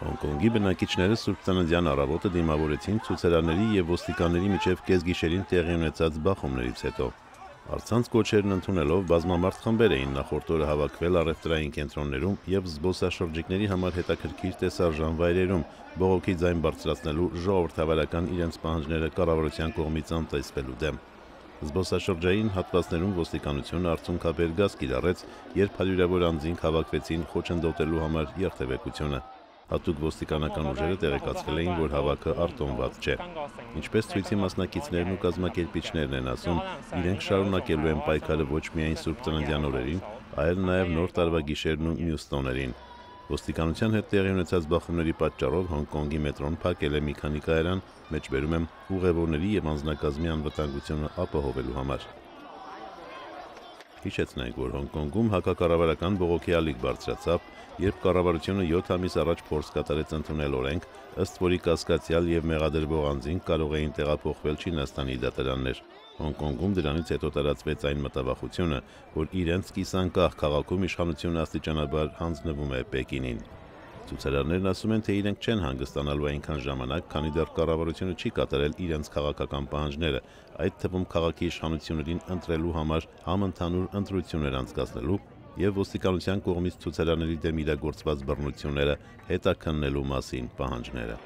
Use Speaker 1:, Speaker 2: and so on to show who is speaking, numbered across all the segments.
Speaker 1: Հոնկոնգի բնակիչները Սուրբ Ծննդյան առավոտը դիմավորեցին ցուցարարների եւ ոստիկանների միջև կեսգիշերին տեղի ունեցած բախումներից հետո։ Առցանց կոչերն ընդունելով բազմամարդ խմբեր էին նախորդ օրը հավաքվել առևտրային կենտրոններում եւ զբոսաշրջիկների համար հետաքրքիր տեսարժան վայրերում բողոքի ձայն բարձրացնելու ժողովրդավարական իրենց պահանջները կառավարության կողմից անտեսվելու դեմ։ Զբոսաշրջային հատվածներում ոստիկանությունը արցունքաբեր գազ կիրառեց, երբ հարյուրավոր անձինք հավաքվեցին խոչընդոտելու համար երթևեկությունը։ Հատուկ ոստիկանական ուժերը տեղեկացրել էին, որ հավաքը արտոնված չէ։ Ինչպես ցույցի մասնակիցներն ու կազմակերպիչներն են ասում, իրենք շարունակելու են պայքարը ոչ միայն Սուրբ Ծննդյան օրերին, այլ նաև Նոր տարվա գիշերն ու մյուս տոներին։ Ոստիկանության հետ տեղի ունեցած բախումների պատճառով Հոնկոնգի մետրոն փակել է մի քանի կայարան, մեջբերում եմ ուղևորների եւ անձնակազմի անվտանգությունը ապահովելու համար։ Հիշեցնենք, որ Հոնկոնգում հակակառավարական բողոքի ալիք բարձրացավ, երբ կառավարությունը 7 ամիս առաջ փորձ կատարեց ընդունել օրենք, ըստ որի կասկածյալ եւ մեղադրվող անձինք կարող էին տեղափոխվել Չինաստանի դատարաններ։ Հոնկոնգում դրանից հետո տարածվեց այն մտավախությունը, որ իրենց կիսանկախ քաղաքում իշխանությունը աստիճանաբար հանձնվում է Պեկինին։ Ցուցարարներն ասում են, թե իրենք չեն հանգստանալու այնքան ժամանակ, քանի դեռ կառավարությունը չի կատարել իրենց քաղաքական պահանջները, այդ թվում քաղաքի իշխանություններին ընտրելու համար համընդհանուր ընտրություններ անցկացնելու եւ ոստիկանության կողմից ցուցարարների դեմ իրագործված բռնությունները հետաքննելու մասին պահանջները։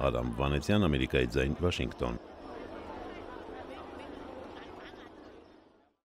Speaker 1: Արամ Վանեցյան, Ամերիկայի ձայն, Վաշինգտոն։